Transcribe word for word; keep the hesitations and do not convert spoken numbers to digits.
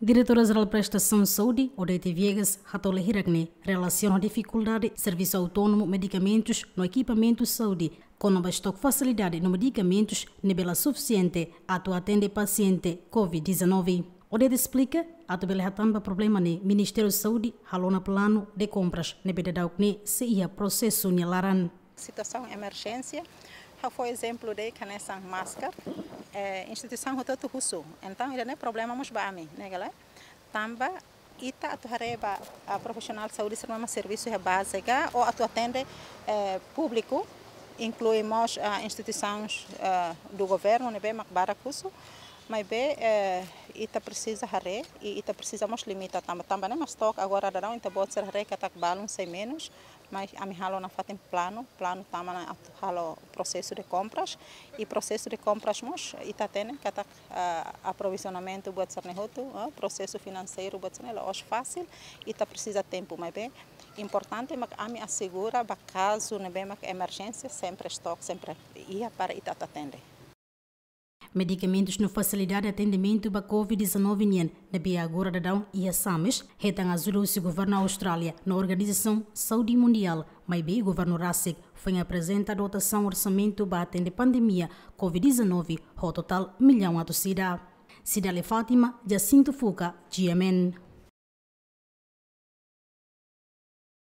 Diretora Jerál Prestasaun Saúde, Odete Viegas, hato'o lia hirak ne'e relasiona ho difikuldade servisu autónomu, medikamentus no ekipamentu saúde, kona-ba estoke fasilidade no medikamentus ne'ebé la sufisiente atu atende pasiente covid dezanove. Odete esplika, atu bele hatán ba problema ne'e, Ministériu Saúde halo ona planu de kompras ne'ebé daudauk ne'e sei iha prosesu nia laran. Situasaun emerjénsia, ha'u fó ezemplu de'it hanesan máskara, eh, instituisaun hotu-hotu husu. Entaun, ida-ne'e problema mós ba ami, ne'e ka lae? Tanba ita atu haree ba, ah, profisionál saúde sira mak servisu iha baze ka, ou atu atende, eh, públiku, inklui mós, ah, instituisaun, ah, do governu, ne'ebé mak barak husu, maibé, eh, ita presiza haree, i ita presiza mós limita tanba, tanba ne'e mak estoke agora daudaun ita-boot sira haree katak balun sei menus, mas ami halo nafatin planu, planu tama ona atu halo prosesu de kompras, i prosesu de kompras mós ita hatene katak, ah, aprovizionamentu buat sira-ne'e hotu, ah, prosesu finanseiru buat sira-ne'e la'ós fasil, ita presiza tempu, maibé importante mak ami asegura ba kazu ne'ebé mak emerjénsia sempre estoke, sempre iha para ita atu atende. Medikamentus no fasilidade atendimentu ba covid dezanove nian ne'ebé agora daudaun iha Sames, hetan ajuda husi governu Austrália no Organizasaun Saúde Mundiál, maibé governu rasik foin aprezenta dotasaun orsamentu ba atende pandemia covid dezanove ho totál millaun atus ida. Cidália Fátima, Jacinto Fuca, G M N.